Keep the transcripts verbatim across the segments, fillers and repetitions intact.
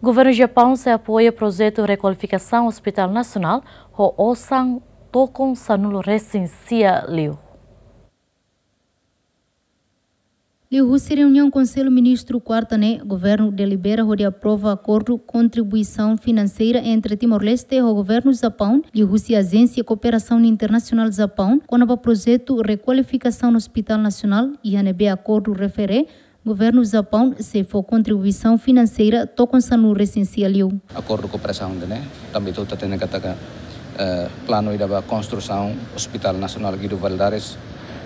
Governu Japaun sei apoia projetu rekualifikasaun Hospital Nasionál ho osan tokon sanulu resin sia liu. Liuhusi reuniaun Konsellu Ministru kuarta ne'e, governu delibera hodi aprova akordu kontribuisaun finanseira entre Timor-Leste ho governu Japaun, liuhusi Ajénsia Kooperasaun Internasionál Japaun, kona-ba projetu rekualifikasaun Hospital Nasionál, iha ne'ebé akordu refere, governu Japaun sei fó kontribuisaun finanseira tokon sanulu resin sia liu. Akordu kooperasaun ida-ne'e, tanba ita hatene katak, eh, planu ida ba konstrusaun Hospital Nasionál Guido Valadares,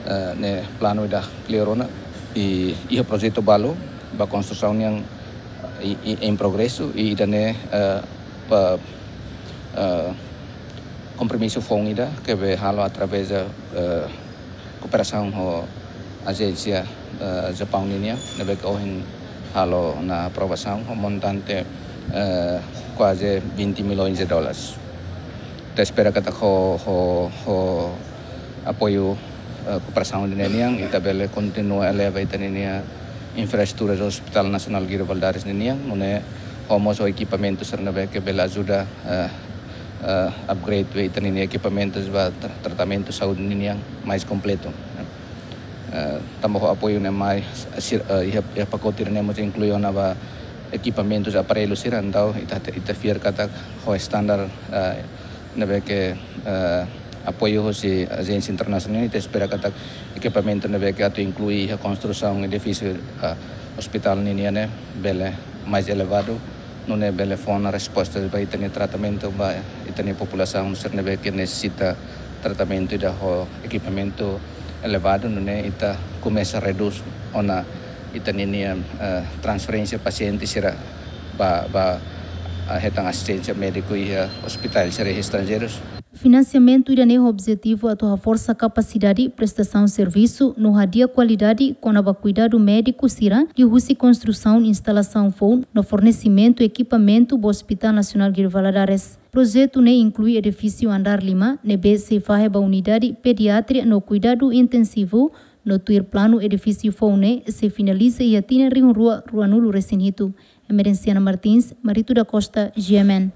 eh, ne'e planu ida kleur ona, i, iha projetu balu ba konstrusaun nian i, i, em progresu, i ida-ne'e, eh, ba, eh, kompromisu foun ida ke be halo através, eh, kooperasaun ho ajénsia, eh, Japaun ninian, ne'ebé ke ohin halo ona aprovasaun ho montante, eh, kuaze vinte milhões de dólares. Ita espera katak ho, ho, ho apoiu, eh, kooperasaun ida-ne'e nian, ita bele kontinua eleva ita-nia infraestrutura Hospital Nasionál Guido Valadares ninian, nune'e ho mós ho ekipamentu sira ne'ebé ke bele ajuda, eh, eh, upgrade ba ita-nia ekipamentus ba tra-, tratamentu saúde ninian mais kompletu. Eh, tanba ho apoiu ne'e mai, sir-, eh, iha, iha pakote ne'e mós inklui ona ba ekipamentus, aparellu sira, entaun ita, ita fiar katak ho standar, eh, ne'ebé ke, eh, apoiu husi ajénsia internasionál, ita espera katak ekipamentu ne'ebé ke atu inklui iha konstrusaun edifísiu, eh, hospital ninian ne'e bele mais elevadu, nune'e bele fó ona resposta ba ita-nia tratamentu ba ita-nia populasaun sira ne'ebé ke nesesita tratamentu ida ho ekipamentu elevadu, nune'e ita komesa redús ona ita-nia, eh, transferénsia pasiente sira ba, ba, eh, hetan asisténsia médiku iha ospitál sira estranjeirus. Finansiamentu ida-ne'e ho objetivu atu haforsa kapasidade prestasaun servisu no hadi'a kualidade kona-ba kuidadu médiku sira, liuhusi konstrusaun instalasaun foun no fornesimentu ekipamentu ba Hospital Nasionál Guido Valadares. Projetu ne'e inklui edifísiu andár lima, ne'ebé sei fahe ba unidade pediatria no kuidadu intensivu, no tuir planu edifísiu foun ne'e sei finaliza iha tinan rihun rua ruanulu resin hitu. Emerenciana Martins, Marito da Costa, G M N.